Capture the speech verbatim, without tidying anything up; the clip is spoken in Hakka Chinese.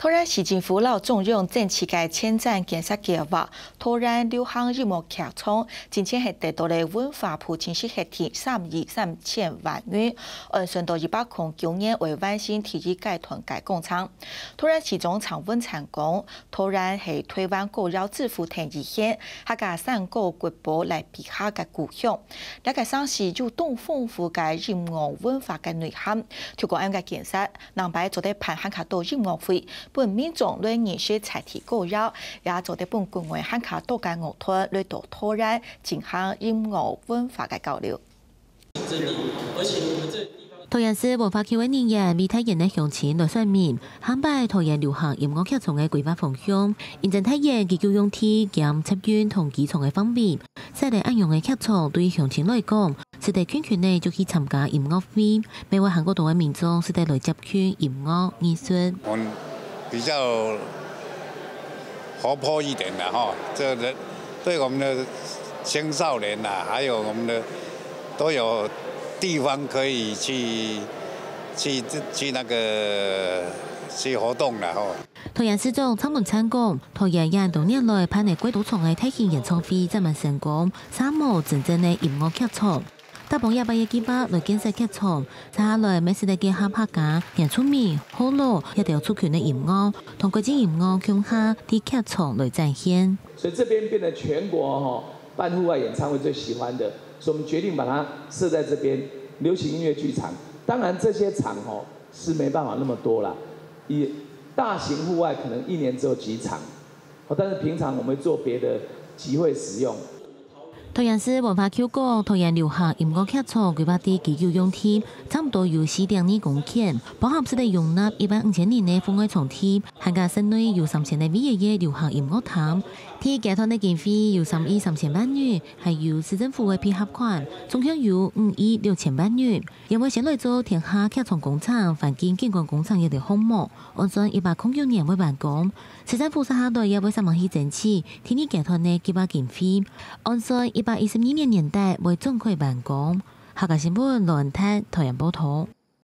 桃園市政府摎中央爭取个前瞻建設計畫，桃園流行音樂劇場，之前係得到了文化部正式核定三億三千萬元，按算到一百空九年會完成第一階段个工程。桃園市長陳文燦講，桃園係台灣歌謠之父鄧雨賢、客家山歌國寶賴碧霞个故鄉。這个城市有當豐富个音樂文化个內涵，透過恁个建設， 另擺做得辦還較多音樂會，分民眾來認識在地歌謠，也做得分國外還較多个樂團來到桃園進行音樂文化个交流。桃園市文化局个人員為大園个鄉親來說明，下擺桃園流行音樂劇場个規劃方向，因應大園居住用地兼捷運同機場个範圍，設立恁樣个劇場對鄉親來講， 使得近近仔就去參加音樂會，乜會還過多个民眾使得來接近音樂藝術。我們比較活潑一點的哈，這個對我們的青少年啊，還有我們的都有地方可以去去去那個去活動了哈。 桃園市長蔡文燦講，桃園也多年來辦了幾多場个大型演唱會，正蠻成功，嗄無真正个音樂劇場。搭幫這擺个計畫來建設劇場，接下來乜使得結合客家、原住民、學老這兜族群个音樂，同國際音樂共下在劇場來展現。所以這邊變得全國哈辦戶外演唱會最喜歡的，所以我們決定把它設在這邊流行音樂劇場。當然這些場哈 是沒辦法那麼多啦。以大型戶外可能一年只有幾場，哦，但是平常我們會做別的集會使用。桃園市文化局講，桃園流行音樂劇場規劃个居住用地差毋多有四點二公頃，包含使得容納一萬五千人个戶外場地，還加室內有三千个位仔个流行音樂廳。第一階段个經費有三億三千萬元，還有市政府个配合款，總共有五億六千萬元。 也會先來做天下劇場工程、環境景觀工程這兜項目，按算一百空九年會完工。市政府接下來也會煞猛去爭取第二階段个計畫經費，按算一百一十二年年底會正開完工。客家新聞，羅恩泰，桃園報導。